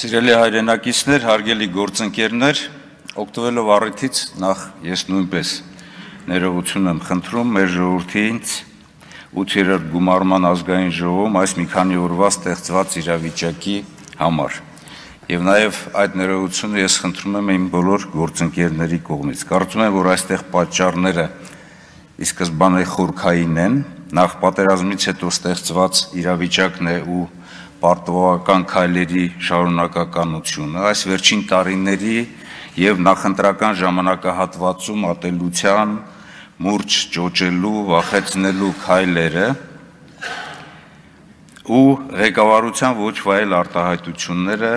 Սիրելի հայրենակիցներ, հարգելի գործընկերներ, օգտվելով առիթից նախ ես նույնպես ներողություն եմ խնդրում մեր ժողովրդից 8-րդ գումարման ազգային ժողովում այս մի քանի օրվա ստեղծված իրավիճակի համար։ Եվ նաև այդ ներողությունը ես խնդրում եմ իմ բոլոր գործընկերների կողմից։ Կարծում եմ, որ այստեղ պատճառները ի սկզբանե խորքային են, նախ պատերազմից հետո ստեղծված իրավիճակն է ու պարտավորական քայլերի շարունակականությունը, այս վերջին տարիների եւ նախընտրական ժամանակահատվածում ատելության, մուրջ ճոճելու, վախեցնելու քայլերը ու ղեկավարության ոչ վայել արտահայտությունները,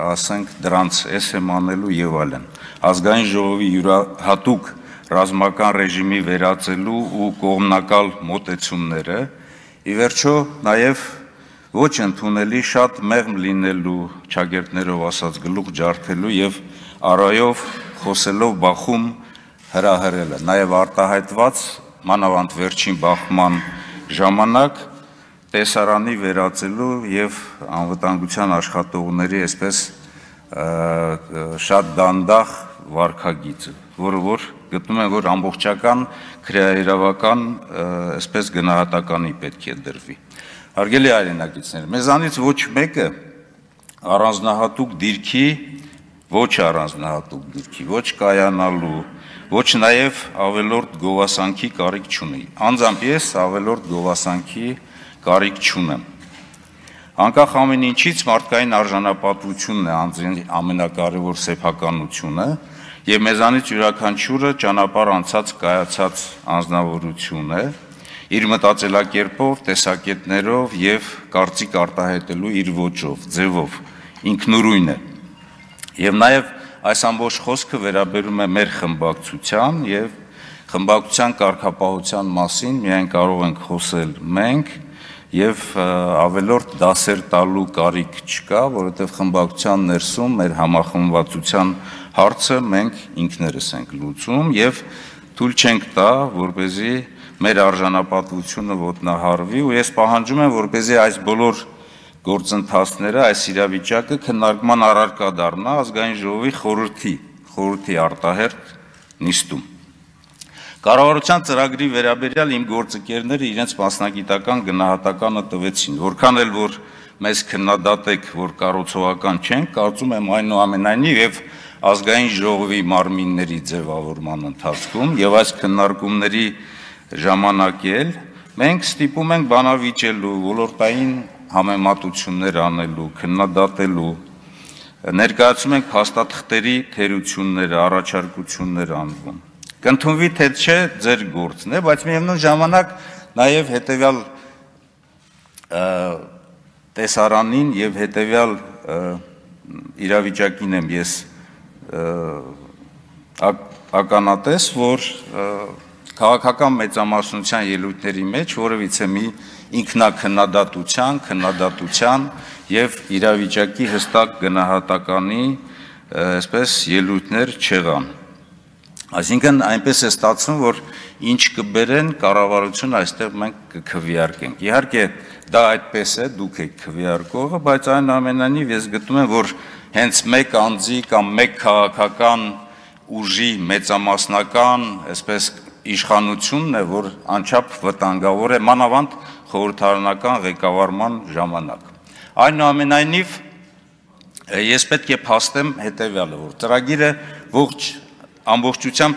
ասենք դրանց եմ անելու եւ այլն։ Ազգային ժողովի յուրահատուկ ռազմական ռեժիմի վերածելու ու կողմնակալ մոտեցումները, ի վերջո նաեւ ոչ ընդունելի շատ մեղմ լինելու, ճագերտներով ասած գլուխ ջարդելու եւ արայով խոսելով բախում հրահրելը, նաեւ արտահայտված մանավանդ վերջին բախման ժամանակ տեսարանի վերածելու եւ անվտանգության աշխատողների այսպես շատ դանդաղ վարքագիծը, որ գտնում են, որ ամբողջական քրեաիրավական այսպես գնահատականի պետք է դրվի։ Հարգելի հայրենակիցներ, մեզանից ոչ մեկը առանձնահատուկ դիրքի, ոչ կայանալու, ոչ նաև ավելորդ գովասանքի կարիք չունի։ Անձամբ ես ավելորդ գովասանքի կարիք չունեմ։ Անկախ ամեն ինչից մարդկային արժանապատվությունն է անձին ամենակարևոր սեփականությունը եւ մեզանից յուրաքանչյուրը ճանապարհ անցած կայացած անձնավորություն է իր մտածելակերպով, տեսակետներով եւ կարծիք արտահայտելու իր ոճով, ձևով, ինքնուրույն է։ Եվ նաեւ այս ամբողջ խոսքը վերաբերում է մեր խմբակցության եւ խմբակցության կարգապահության մասին միայն կարող ենք խոսել մենք եւ ավելորդ դասեր տալու կարիք չկա, որովհետեւ խմբակցության ներսում մեր համախմբվածության հարցը մենք ինքներս ենք լուծում եւ թույլ չենք տա, որպեսզի մեր արժանապատվությունը ոտնահարվի ու ես պահանջում եմ, որպեսզի այս բոլոր գործընթացները, այս իրավիճակը քննարկման առարկա դառնա ազգային ժողովի խորհրդի արտահերթ նիստում։ Կառավարության ծրագրի վերաբերյալ իմ գործընկերները իրենց մասնագիտական գնահատականը տվեցին, որքան էլ որ մեզ քննադատեք, որ կառուցողական չենք, կարծում եմ այնուամենայնիվ եւ ազգային ժողովի մարմինների ձևավորման ընթացքում եւ այս քննարկումների ժամանակ էլ մենք ստիպում ենք բանավիճելու, ոլորտային համեմատություններ անելու, քննադատելու, ներկայացում ենք փաստաթղթերի թերությունները, առաջարկություններ անվում։ Կընդունվի թե չէ ձեր գործն է, բայց միևնույն ժամանակ նաև հետևյալ տեսարանին եւ հետևյալ իրավիճակին եմ ես ականատես, որ քաղաքական մեծամասնության ելույթների մեջ որևիցե մի քննադատության եւ իրավիճակի հստակ գնահատականի այսպես ելույթներ չեղան։ Այսինքն այնպես է ստացվում, որ ինչ կբերեն կառավարությունը այստեղ մենք կքվեարկենք։ Իհարկե դա այդպես է, դուք եք քվեարկողը, բայց այնուամենայնիվ ես գտնում եմ, որ հենց մեկ անձի կամ մեկ քաղաքական ուժի մեծամասնական այսպես իշխանությունն է, որ անչափ վտանգավոր է մանավանդ խորհրդարանական ղեկավարման ժամանակ։ Այնուամենայնիվ ես պետք է փաստեմ հետևյալը, որ ծրագիրը ոչ ամբողջությամբ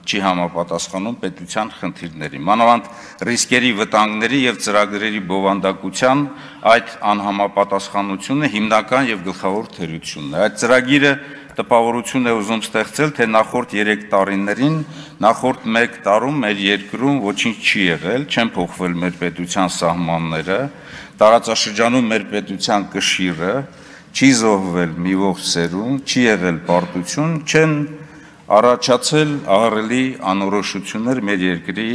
չի համապատասխանում պետության խնդիրների, մանավանդ ռիսկերի, վտանգների եւ ծրագրերի բովանդակության այդ անհամապատասխանությունը հիմնական եւ գլխավոր թերությունն է։ Այդ ծրագիրը տպավորություն է ուզում ստեղծել, թե նախորդ 3 տարիներին, նախորդ 1 տարում մեր երկրում ոչինչ չի եղել, չեն փոխվել մեր պետության սահմանները, տարածաշրջանում մեր պետության կշիռը, չի զոհվել մի ողջ սերունդ, չի եղել պարտություն, չեն առաջացել ահռելի անորոշություններ մեր երկրի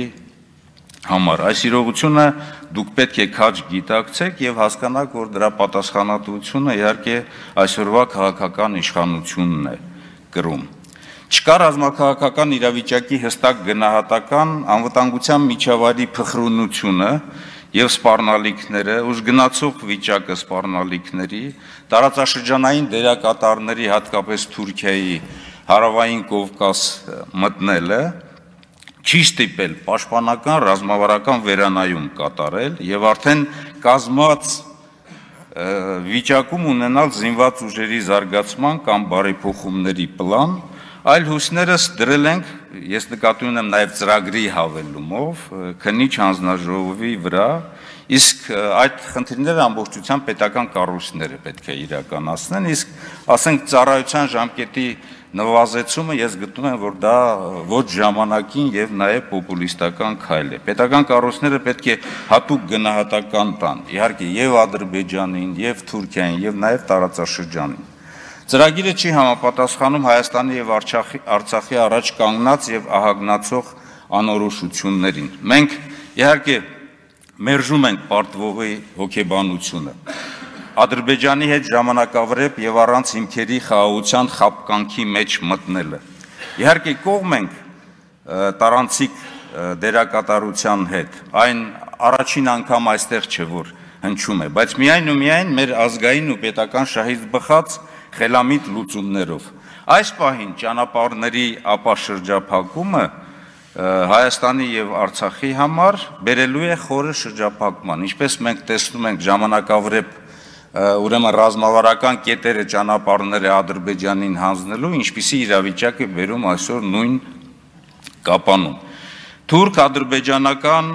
համար։ Այս իրողությունը դուք պետք է քաջ գիտակցեք եւ հասկանաք, որ դրա պատասխանատվությունը իհարկե այսօրվա քաղաքական իշխանությունն է կրում։ Չկա ռազմաքաղաքական իրավիճակի հստակ գնահատական, անվտանգության միջավայրի փխրունությունը եւ սպառնալիքները, ուժգնացող վիճակը սպառնալիքների, տարածաշրջանային դերակատարների, հատկապես Թուրքիայի հարավային Կովկաս մտնելը չի ստիպել պաշտպանական ռազմավարական վերանայում կատարել եւ արդեն կազմած վիճակում ունենալ զինված ուժերի զարգացման կամ բարեփոխումների պլան, այլ հույսներս դրել ենք, ես նկատի ունեմ նաև ծրագրի հավելումով, քննիչ հանձնաժողովի վրա, իսկ այդ խնդիրները ամբողջությամբ պետական կառույցները պետք է իրականացնեն, իսկ ասենք ծառայության ժամկետի նվազեցումը ես գտնում եմ, որ դա ոչ ժամանակին եւ նաև պոպուլիստական քայլ է։ Պետական կառույցները պետք է հատուկ գնահատական տան, իհարկե եւ Ադրբեջանին, եւ Թուրքիային, եւ նաև տարածաշրջանին։ Ծրագիրը չի համապատասխանում Հայաստանի եւ Արցախի առաջ կանգնած եւ ահագնացող անորոշություններին։ Մենք իհարկե մերժում ենք պարտվողի հոգեբանությունը։ Ադրբեջանի հետ ժամանակավրեպ եւ առանց հիմքերի խաղաղության խապկանքի մեջ մտնելը։ Իհարկե կողմ ենք տարանցիկ դերակատարության հետ։ Այն առաջին անգամ այստեղ չէ որ հնչում է, բայց միայն ու միայն մեր ազգային ու պետական շահից բխած խելամիտ լուծումներով։ Այս պահին ճանապարհների ապաշրջափակումը Հայաստանի եւ Արցախի համար բերելու է խորը շրջափակման, ինչպես մենք տեսնում ենք ժամանակավրեպ ուրեմն ռազմավարական կետերը ճանապարհները Ադրբեջանին հանձնելու, ինչպիսի իրավիճակ է բերում այսօր նույն կապանում։ Թուրք-ադրբեջանական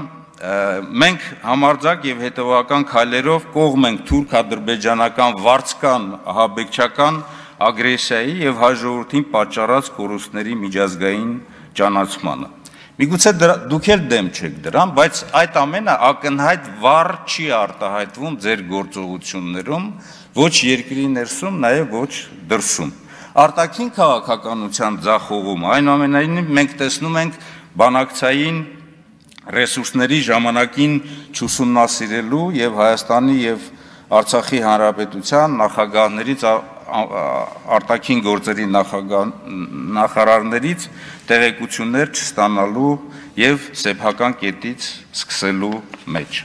մենք համարձակ եւ հետեւական քայլերով կողմ ենք թուրք-ադրբեջանական վարձկան ահաբեկչական ագրեսիայի եւ հայ ժողովրդին պատճառած կորուստների միջազգային ճանաչմանը։ Միգուցե դուք էլ դեմ չեք դրան, բայց այդ ամենը ակնհայտ վառ չի արտահայտվում ձեր գործողություններում, ոչ երկրի ներսում, նաև ոչ դրսում։ Արտաքին քաղաքականության ձախողումը, այնուամենայնիվ մենք տեսնում ենք բանակցային ռեսուրսների ժամանակին չուսումնասիրելու եւ Հայաստանի եւ Արցախի Հանրապետության նախագահներից արտաքին գործերի նախարարներից տեղեկություններ չստանալու եւ սեփական կետից սկսելու մեջ։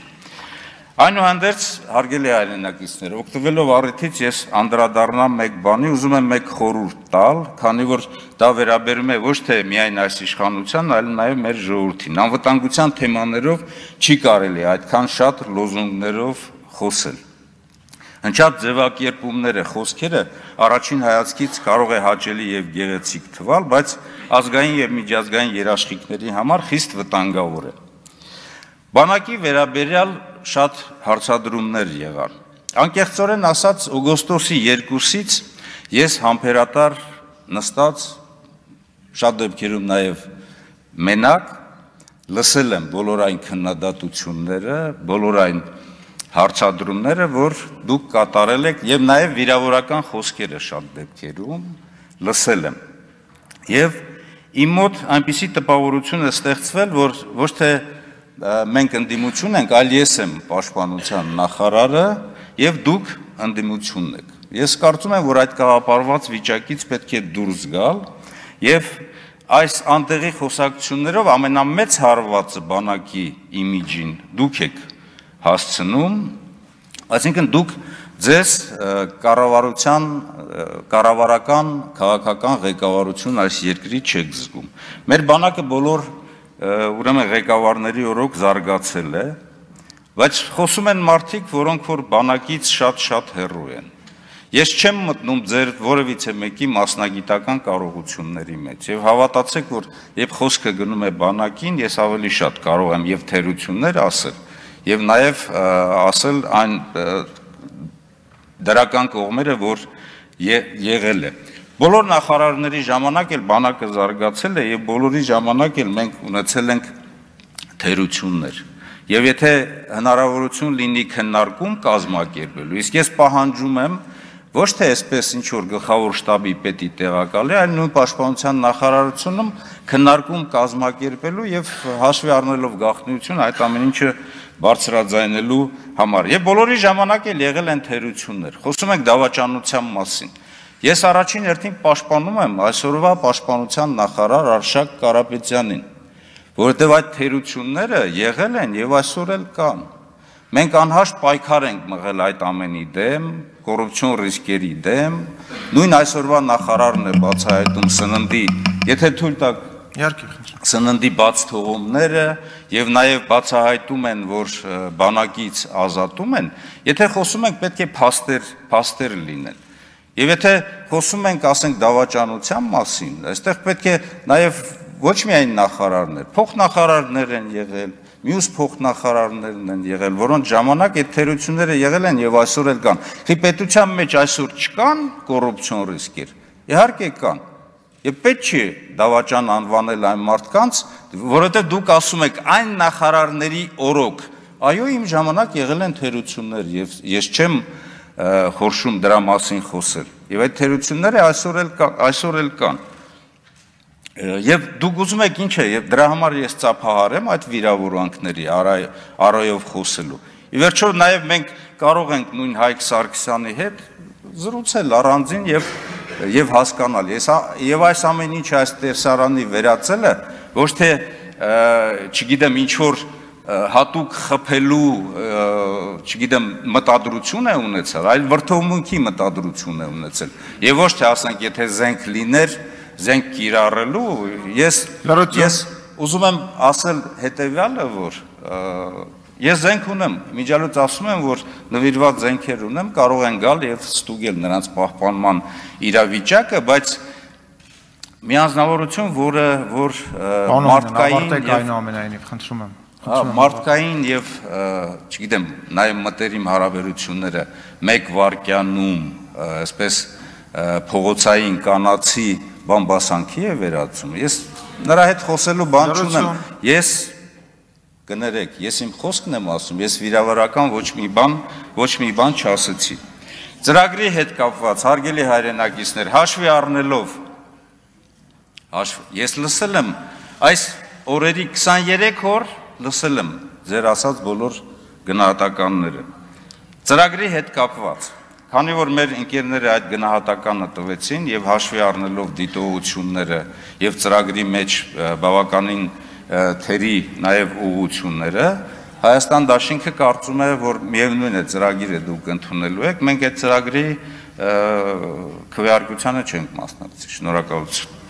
Այնուհանդերձ, հարգելի հայրենակիցներ, օգտվելով առիթից ես անդրադառնամ մեկ բանի, ուզում եմ մեկ խորհուրդ տալ, քանի որ դա վերաբերում է ոչ թե միայն այս իշխանության, այլ նաև մեր ժողովրդին։ Անվտանգության թեմաներով չի կարելի այդքան շատ լոզունգներով խոսել։ Հնչած ձևակերպումները, խոսքերը առաջին հայացքից կարող է հաճելի եւ գեղեցիկ թվալ, բայց ազգային եւ միջազգային երաշխիքների համար խիստ վտանգավոր է։ Բանակի վերաբերյալ շատ հարցադրումներ եղան։ Անկեղծորեն ասած, օգոստոսի 2-ից ես համբերատար նստած շատ դեպքերում նաև մենակ լսել եմ բոլոր այն քննադատությունները, բոլոր այն հարցադրումները, որ դուք կատարել եք եւ նաև վիրավորական խոսքերը շատ դեպքերում լսել եմ։ Եվ իմ մոտ այնպիսի տպավորություն է ստեղծվել, որ ոչ թե մենք ընդդիմություն ենք, այլ ես եմ պաշտպանության նախարարը եւ դուք ընդդիմությունն եք։ Ես կարծում եմ, որ այդ կաղապարված վիճակից պետք է դուրս գալ եւ այս անտեղի խոսակցություններով ամենամեծ հարվածը բանակի իմիջին դուք եք հասցնում, այսինքն դուք ձեզ կառավարական քաղաքական ղեկավարություն այս երկրի չեք զգում։ Մեր բանակը բոլոր ուրեմն ղեկավարների օրոք զարգացել է, բայց խոսում են մարդիկ, որոնք որ բանակից շատ հեռու են։ Ես չեմ մտնում ձեր որևիցե մեկի մասնագիտական կարողությունների մեջ եւ հավատացեք, որ երբ խոսքը գնում է բանակին, ես ավելի շատ կարող եմ եւ թերություններ ասել եւ նաեւ ասել այն դրական կողմերը, որ եղել է։ Բոլոր նախարարների ժամանակ էլ բանակը զարգացել է եւ բոլորի ժամանակ էլ մենք ունեցել ենք թերություններ։ Եվ եթե հնարավորություն լինի քննարկում կազմակերպելու, իսկ ես պահանջում եմ ոչ թե այսպես ինչ որ գլխավոր շտաբի պետի տեղակալի, այլ նույն պաշտպանության նախարարությունում քննարկում կազմակերպելու եւ հաշվի առնելով գաղտնիություն այդ ամեն ինչը բարձրաձայնելու համար։ Եվ բոլորի ժամանակ էլ եղել են թերություններ։ Խոսում ենք դավաճանության մասին։ Ես առաջին հերթին պաշտպանում եմ այսօրվա պաշտպանության նախարար Արշակ Կարապետյանին, որովհետև այդ թերությունները եղել են եւ այսօր էլ կան։ Մենք անհաշտ պայքար ենք մղել այդ ամենի դեմ, կոռուպցիոն ռիսկերի դեմ, նույն այսօրվա նախարարն է բացահայտում սննդի, եթե թույլ տաք սննդի բաց թողումները եւ նաեւ բացահայտում են, որ բանակից ազատում են, եթե խոսում ենք պետք է փաստեր լինեն։ Եվ եթե խոսում ենք, ասենք, դավաճանության մասին, այստեղ պետք է նաեւ ոչ միայն նախարարներ, փոխնախարարներ են եղել, մյուս փոխնախարարներն են եղել, որոնց ժամանակ այդ թերությունները եղել են եւ այսօր էլ կան։ Խի պետության մեջ այսօր չկան կոռուպցիոն ռիսկեր։ Իհարկե կան։ Եվ պետք չի դավաճան անվանել այն մարդկանց, որովհետեւ դուք ասում եք այն նախարարների օրոք։ Այո, իմ ժամանակ եղել են թերություններ եւ ես չեմ խորշում դրա մասին խոսել։ Եվ այդ թերությունները այսօր էլ կան։ Եվ դուք ուզում եք ինչ է, եւ դրա համար ես ծափահարեմ այդ վիրավորանքների առայով խոսելու։ Ի վերջո նաեւ մենք կարող ենք նույն Հայկ Սարգսյանի հետ զրուցել առանձին եւ հասկանալ։ Եվ այս ամեն ինչ այս տեսարանի վերածելը ոչ թե չգիտեմ ինչ որ հատուկ խփելու, չգիտեմ, մտադրություն է ունեցել, այլ վրդովմունքի մտադրություն է ունեցել։ Եվ ոչ թե ասենք, եթե զենք լիներ, զենք կիրառելու, ես ուզում եմ ասել հետևյալը, որ ես զենք ունեմ, միջալուց ասում եմ, որ նվիրված զենքեր ունեմ, կարող են գալ եւ ստուգել նրանց պահպանման իրավիճակը, բայց մի անձնավորություն, որ մարդկային եւ, չգիտեմ, նաեւ մտերիմ հարաբերությունները մեկ վարկյանում, այսպես փողոցային կանացի բամբասանքի է վերածում։ Ես նրա հետ խոսելու բան չունեմ։ Ես կներեք, ես իմ խոսքն եմ ասում, ես վիրավորական ոչ մի բան չասեցի։ Ծրագրի հետ կապված հարգելի հայրենակիցներ, հաշվի առնելով ես լսել եմ այս օրերի 23 օր լսել եմ ձեր ասած բոլոր գնահատականները։ Ծրագրի հետ կապված, քանի որ մեր ընկերները այդ գնահատականը տվեցին եւ հաշվի առնելով դիտողությունները եւ ծրագրի մեջ բավականին թերի նաեւ ուղղությունները, Հայաստան դաշինքը կարծում է, որ միևնույն է ծրագիրը դուք ընդունելու եք, մենք այդ ծրագրի քվեարկությանը չենք մասնակցի։ Շնորհակալություն։